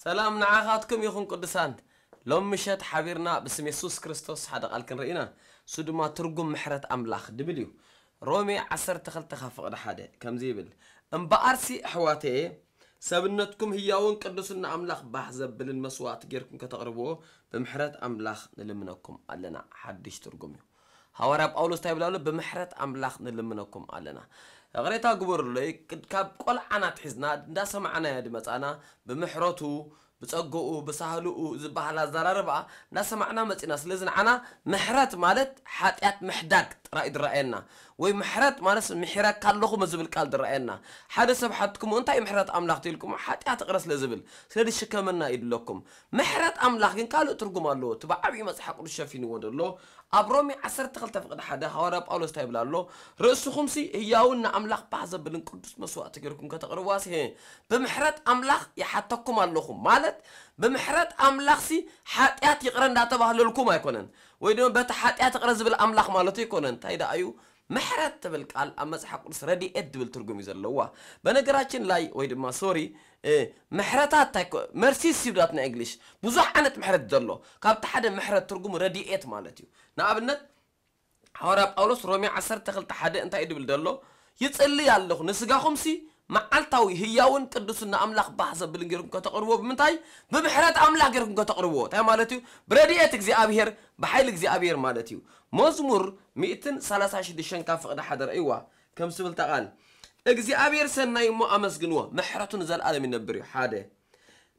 ሰላም ንዓኻትኩም ይኹን ቅዱሳን። ሎም ምሸት ሓቢርና ብስም የሱስ ክርስቶስ ሓደ ቃል ክንርኢ ኢና። እሱ ድማ ትርጉም ምሕረት ኣምላኽ ድብል እዩ። ሮሜ ዓሰርተ ክልተ ካብ ፍቕዲ ሓደ ከምዚ ይብል፣ እምበኣርሲ ኣሕዋተየ፣ ሰብነትኩም ህያውን ቅዱስን ንኣምላኽ ባህ ዘብልን መስዋእቲ ጌርኩም ከተቕርብዎ ብምሕረት ኣምላኽ ንልምነኩም ኣለና። ሓድሽ ትርጉም እዩ። ሃዋርያ ጳውሎስ እንታይ ይብል ኣሎ? ብምሕረት ኣምላኽ ንልምነኩም ኣለና። ይቕሬታ ግበሩለይ፣ ካብ ቆልዓና ኣትሒዝና እንዳሰማዕናዮ ድመጻና፣ ብምሕረቱ፣ ብጸግኡ፣ ብሳህልኡ ዝበሃል ኣዘራርባ እንዳሰማዕና መጺና። ስለዚ ንዓና ምሕረት ማለት ሓጢኣት ምሕዳግ ጥራይ ድረኣየና፣ ወይ ምሕረት ማለት ምሒረካ ኣለኹ ዝብል ቃል ድረኣየና። ሓደ ሰብ ሓትኩሞ እንታይ ምሕረት ኣምላኽ ትልኩሞ ሓጢኣት እቕረ ስለ ዝብል፣ ስለ ዝሽከመና ይድለኩም። ምሕረት ኣምላኽ ግን ካልእ ትርጉም ኣለዎ። እቲ ብዓብዩ መጽሓፍ ቅዱስ ሸፊንዎ ዘሎ ኣብ ሮሜ ዓሰርተ ክልተ ፍቕዲ ሓደ ሃዋርያ ጳውሎስ እንታይ ይብል ኣሎ? ርእስኹምሲ ህያውን ንኣምላኽ ባህ ዘብልን ቅዱስ መስዋእቲ ጌርኩም ከተቕርብዋሲ፣ ብምሕረት ኣምላኽ ይሓተኩም ኣለኹ። ማለት ብምሕረት ኣምላኽሲ ሓጢኣት ይቕረ እንዳተባህለልኩም ኣይኮነን፣ ወይ ድማ በቲ ሓጢኣት ይቕረ ዝብል ኣምላኽ ማለቱ ኣይኮነን። እንታይ ደኣ እዩ? ምሕረት ትብል ቃል ኣብ መጽሓፍ ቅዱስ ረድኤት ድብል ትርጉም እዩ ዘለዋ። በነገራችን ላይ ወይ ድማ ሶሪ፣ ምሕረታት እንታይ ኮ-፣ መርሲስ ይብላት ናይ እንግሊሽ። ብዙሕ ዓይነት ምሕረት ዘሎ። ካብቲ ሓደ ምሕረት ትርጉሙ ረድኤት ማለት እዩ። ንኣብነት፣ ሃዋርያ ጳውሎስ ሮሜ ዓሰርተ ክልተ ሓደ እንታይ ድብል ዘሎ? ይጽልይ ኣለኹ፣ ንስጋኹምሲ መዓልታዊ ህያውን ቅዱስን ንኣምላኽ ባህ ዘብልን ጌርኩም ከተቕርብዎ ብምንታይ? ብምሕረት ኣምላኽ ጌርኩም ከተቕርብዎ። እንታይ ማለት እዩ? ብረድኤት እግዚኣብሔር፣ ብሓይሊ እግዚኣብሔር ማለት እዩ። መዝሙር ሚእትን ሰላሳ ሽዱሽተን ካብ ፍቕዲ ሓደ ረእይዋ። ከም ዝብል እታ ቃል፣ እግዚኣብሔር ሰናይ እሞ ኣመስግንዎ፣ ምሕረቱ ንዘለኣለም ይነብር እዩ። ሓደ፣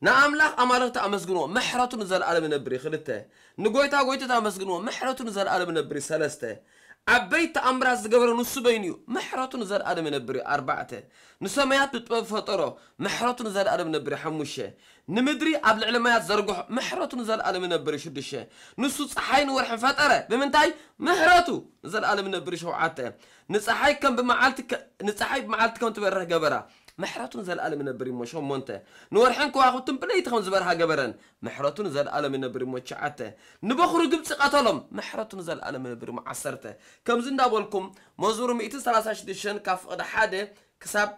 ንኣምላኽ ኣማልኽቲ ኣመስግንዎ፣ ምሕረቱ ንዘለኣለም ይነብር እዩ። ክልተ፣ ንጎይታ ጎይቶት ኣመስግንዎ፣ ምሕረቱ ንዘለኣለም ይነብር እዩ። ሰለስተ፣ ዓበይቲ ተኣምራት ዝገበረ ንሱ በይኑ እዩ፣ ምሕረቱ ንዘለኣለም ይነብር እዩ። ኣርባዕተ፣ ንሰማያት ብጥበብ ፈጠሮ፣ ምሕረቱ ንዘለኣለም ይነብር እዩ። ሓሙሽተ፣ ንምድሪ ኣብ ልዕሊ ማያት ዘርግሖ፣ ምሕረቱ ንዘለኣለም ይነብር እዩ። ሽዱሽተ፣ ንሱ ጸሓይን ወርሕን ፈጠረ፣ ብምንታይ? ምሕረቱ ንዘለኣለም ይነብር እዩ። ሸውዓተ፣ ንጸሓይ ከም ብመዓልቲ ከ-፣ ንጸሓይ ብመዓልቲ ከም ትበርህ ገበራ፣ ምሕረቱ ንዘለኣለም ይነብር እሞ። ሸሞንተ፣ ንወርሕን ከዋኽብትን ብለይቲ ከም ዝበርሃ ገበረን፣ ምሕረቱ ንዘለኣለም ይነብር እሞ። ትሽዓተ፣ ንበኹሪ ግብጺ ቀተሎም፣ ምሕረቱ ንዘለኣለም ይነብር እሞ። ዓሰርተ፣ ከምዚ እንዳበልኩም መዝሙር ሚእትን ሰላሳ ሽዱሽተን ካብ ፍቕዲ ሓደ ክሳብ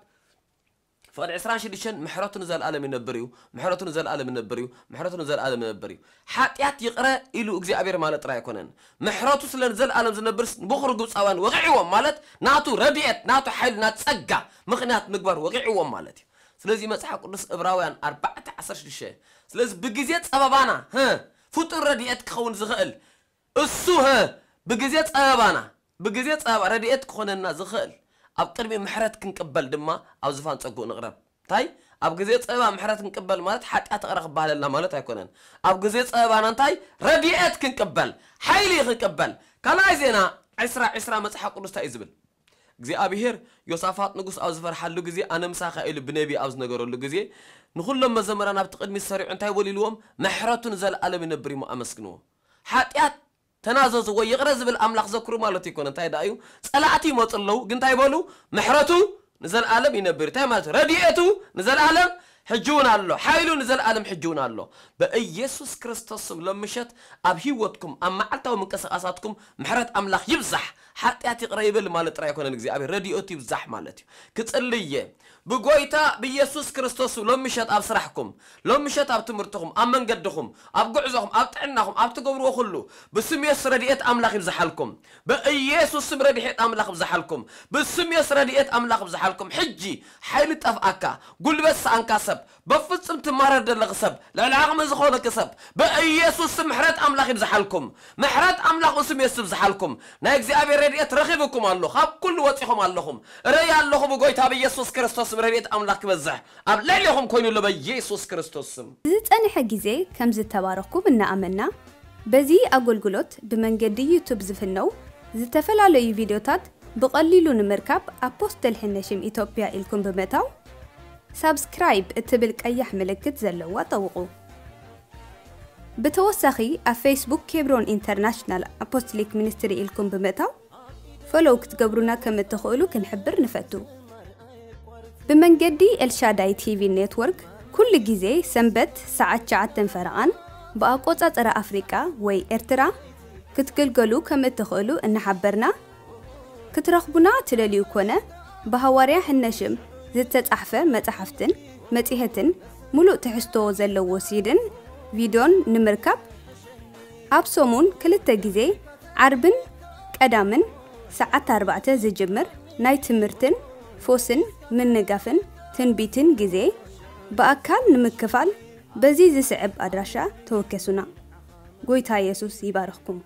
ፍቕዲ ዕስራን ሽዱሽተን ምሕረቱ ንዘለኣለም ይነብር እዩ፣ ምሕረቱ ንዘለኣለም ይነብር እዩ፣ ምሕረቱ ንዘለኣለም ይነብር እዩ። ሓጢኣት ይቕረ ኢሉ እግዚኣብሔር ማለት ጥራይ ኣይኮነን። ምሕረቱ ስለ ንዘለኣለም ዝነብርስ ንበኹሪ ግብጻውያን ወቒዕዎም ማለት ናቱ ረድኤት፣ ናቱ ሓይሊ፣ ናቱ ጸጋ ምኽንያት ምግባር ወቒዕዎም ማለት እዩ። ስለዚ መጽሓፍ ቅዱስ ዕብራውያን ኣርባዕተ ዓሰርተ ሽዱሽተ፣ ስለዚ ብግዜ ጸበባና፣ ህ፣ ፍጡር ረድኤት ክኸውን ዝኽእል እሱ፣ ህ፣ ብግዜ ጸበባና፣ ብግዜ ጸበባ ረድኤት ክኾነና ዝኽእል ኣብ ቅድሚ ምሕረት ክንቅበል ድማ ኣብ ዝፋን ጸግኡ ንቕረብ። እንታይ? ኣብ ግዜ ጸበባ ምሕረት ክንቅበል ማለት ሓጢኣት ይቕረ ክበሃለልና ማለት ኣይኮነን። ኣብ ግዜ ጸበባና እንታይ? ረድኤት ክንቅበል፣ ሓይሊ ክንቅበል። ካልኣይ ዜና ዕስራ ዕስራ መጽሓፍ ቅዱስ እንታይ እዩ ዝብል? እግዚኣብሄር ዮሳፋጥ ንጉስ ኣብ ዝፈርሓሉ ግዜ፣ ኣነ ምሳኻ ኢሉ ብነቢ ኣብ ዝነገረሉ ግዜ፣ ንኹሎም መዘምራን ኣብቲ ቅድሚት ሰሪዑ እንታይ በሉ ኢልዎም? ምሕረቱ ንዘለኣለም ይነብር እሞ ኣመስግንዎ። ሓጢኣት ተናዘዙ ወይ ይቕረ ዝብል ኣምላኽ ዘክሩ ማለት ይኮነ። እንታይ ደኣ እዩ? ጸላእቲ ይመጹ ኣለዉ፣ ግን እንታይ በሉ? ምሕረቱ ንዘለኣለም ይነብር። እንታይ ማለት? ረድኤቱ ንዘለኣለም ሕጂ እውን ኣሎ፣ ሓይሉ ንዘለኣለም ሕጂ እውን ኣሎ። በኢየሱስ ክርስቶስ ስም ሎም ምሸት ኣብ ህይወትኩም፣ ኣብ መዓልታዊ ምንቅስቓሳትኩም ምሕረት ኣምላኽ ይብዛሕ። ሓጢኣት ይቕረ ይበል ማለት ጥራይ ኣይኮነን፣ እግዚኣብሔር ረድኤቱ ይብዛሕ ማለት እዩ። ክጽልይ እየ። ብጎይታ ብኢየሱስ ክርስቶስ ሎም ምሸት ኣብ ስራሕኩም፣ ሎም ምሸት ኣብ ትምህርትኹም፣ ኣብ መንገድኹም፣ ኣብ ጉዕዞኹም፣ ኣብ ጥዕናኹም፣ ኣብ ትገብርዎ ኩሉ ብስም የሱስ ረድኤት ኣምላኽ ይብዝሓልኩም። በኢየሱስ ስም ረድኤት ኣምላኽ ይብዝሓልኩም። ብስም የሱስ ረድኤት ኣምላኽ ይብዝሓልኩም። ሕጂ ሓይሊ ጠፍኣካ፣ ጉልበት ሰኣንካ ሰብ፣ በፍጹም ትማረር ዘለኺ ሰብ፣ ልዕሊ ዓቕሚ ዝኾነኪ ሰብ፣ በኢየሱስ ስም ምሕረት ኣምላኽ ይብዝሓልኩም። ምሕረት ኣምላኽ ብስም የሱስ ይብዝሓልኩም። ናይ እግዚኣብሔር ረድኤት ረኺብኩም ኣሎ። ካብ ኩሉ ወጺኹም ኣለኹም። እርእይ ኣለኹ ብጎይታ ብኢየሱስ ክርስቶስ ስም ረድኤት ኣምላኽ ክበዝሕ ኣብ ልዕሌኹም ኮይኑ ኣሎ በኢየሱስ ክርስቶስ ስም። ዝጸንሐ ግዜ ከም ዝተባረኽኩም እናኣመንና፣ በዚ ኣገልግሎት ብመንገዲ ዩቱብ ዝፍነው ዝተፈላለዩ ቪድዮታት ብቐሊሉ ንምርካብ ኣፖስትል ሕነሽም ኢትዮጵያ ኢልኩም ብምእታው ሳብስክራይብ እትብል ቀያሕ ምልክት ዘለዋ ጠውቑ። ብተወሳኺ ኣብ ፌስቡክ ኬብሮን ኢንተርናሽናል ኣፖስቶሊክ ሚኒስትሪ ኢልኩም ብምእታው ፎሎው ክትገብሩና ከም እትኽእሉ ክንሕብር ንፈቱ። ብመንገዲ ኤልሻዳይ ቲቪ ኔትወርክ ኩሉ ግዜ ሰንበት ሰዓት ትሽዓተ ፈረቓን ብኣቆጻጽራ ኣፍሪቃ ወይ ኤርትራ ክትግልገሉ ከም እትኽእሉ እናሓበርና፣ ክትረኽቡና ትደልዩ ኮነ ብሃዋርያ ሕነሽም ዝተጻሕፈ መጻሕፍትን መጺሔትን ሙሉእ ትሕዝቶ ዘለዎ ሲድን ቪድዮን ንምርካብ፣ ኣብ ሰሙን ክልተ ግዜ ዓርብን ቀዳምን ሰዓት ኣርባዕተ ዝጅምር ናይ ትምህርትን ፎስን ምንጋፍን ትንቢትን ግዜ ብኣካል ንምክፋል በዚ ዝስዕብ ኣድራሻ ተወከሱና። ጎይታ የሱስ ይባርኽኩም።